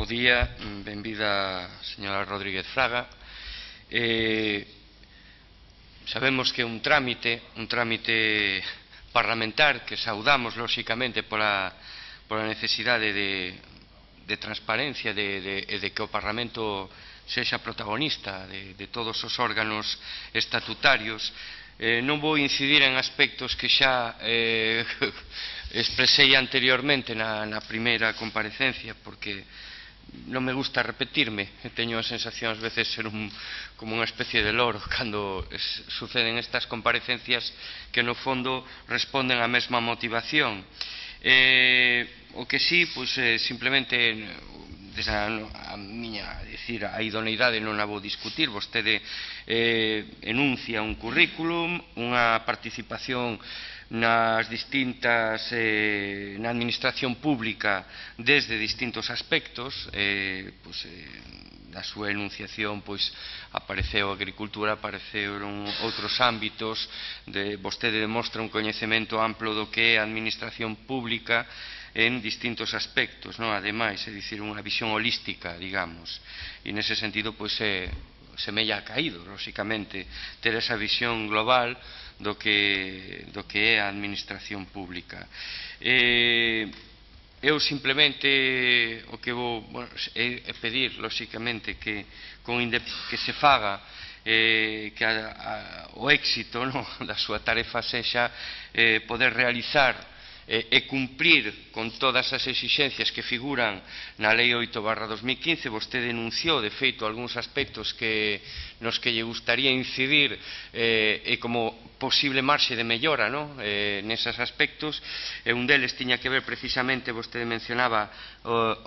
día, benvida señora Rodríguez Fraga. Sabemos que un trámite parlamentar que saudamos, lóxicamente, pola necesidade de transparencia de que o Parlamento sexa protagonista de todos os órganos estatutarios. Non vou incidir en aspectos que xa expresei anteriormente na primeira comparecencia, porque non me gusta repetirme. Teño a sensación ás veces ser como unha especie de loro cando suceden estas comparecencias que no fondo responden á mesma motivación. O que sí, simplemente desde a miña, a idoneidade non a vou discutir. Vostede enuncia un currículum, unha participación nas distintas na administración pública desde distintos aspectos. Da súa enunciación apareceu a agricultura, apareceron outros ámbitos, vostede demostra un coñecemento amplo do que é a administración pública en distintos aspectos, ademais, é dicir, unha visión holística, digamos, e nese sentido semella caído, lóxicamente, ter esa visión global do que é a administración pública. Eu simplemente o que vou é pedir, lóxicamente, que se faga que o éxito da súa tarefa sexa poder realizar e cumprir con todas as exixencias que figuran na Lei 8/2015. Vostede denunciou, de feito, algúns aspectos nos que lle gustaría incidir e como posible marxe de mellora neses aspectos. Un deles tiña que ver precisamente, vostede mencionaba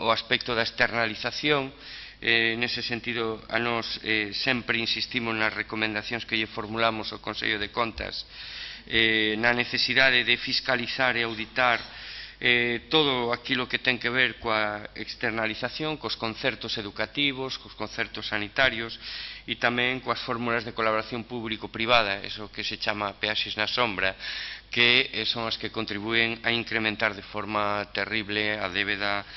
o aspecto da externalización. Nese sentido, a nós sempre insistimos nas recomendacións que lle formulamos ao Consello de Contas, na necesidade de fiscalizar e auditar todo aquilo que ten que ver coa externalización, cos concertos educativos, cos concertos sanitarios e tamén coas fórmulas de colaboración público-privada, eso que se chama peaxes na sombra, que son as que contribúen a incrementar de forma terrible a débeda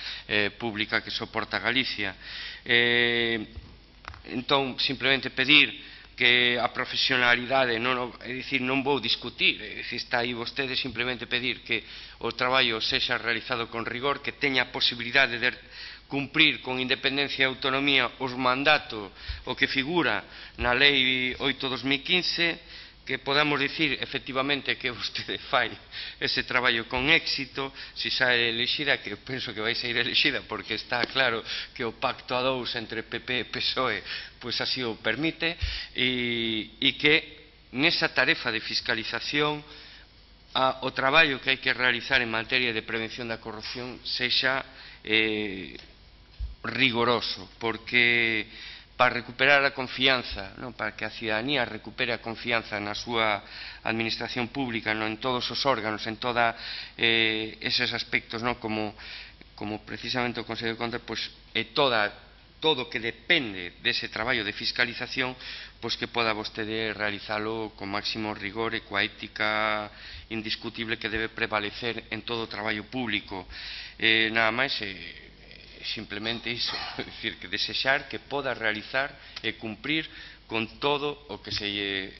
pública que soporta Galicia. Entón, simplemente pedir que a profesionalidade, é dicir, non vou discutir, está aí vostede, simplemente pedir que o traballo sexa realizado con rigor, que teña a posibilidade de cumprir con independencia e autonomía os mandatos, o que figura na Lei 8/2015, que podamos dicir efectivamente que vostede fai ese traballo con éxito, se sae elexida, que penso que vai sair elexida porque está claro que o pacto a dous entre PP e PSOE así o permite, e que nesa tarefa de fiscalización o traballo que hai que realizar en materia de prevención da corrupción sexa rigoroso, porque para recuperar a confianza, para que a cidadanía recupere a confianza na súa administración pública, en todos os órganos, en todos eses aspectos, como precisamente o Consello de Contas, e todo o que depende dese traballo de fiscalización, que poda vostede realizalo con máximo rigor e coa ética indiscutible que debe prevalecer en todo o traballo público. Nada máis, simplemente iso, é dicir, que desexar que poda realizar e cumprir con todo o que se lle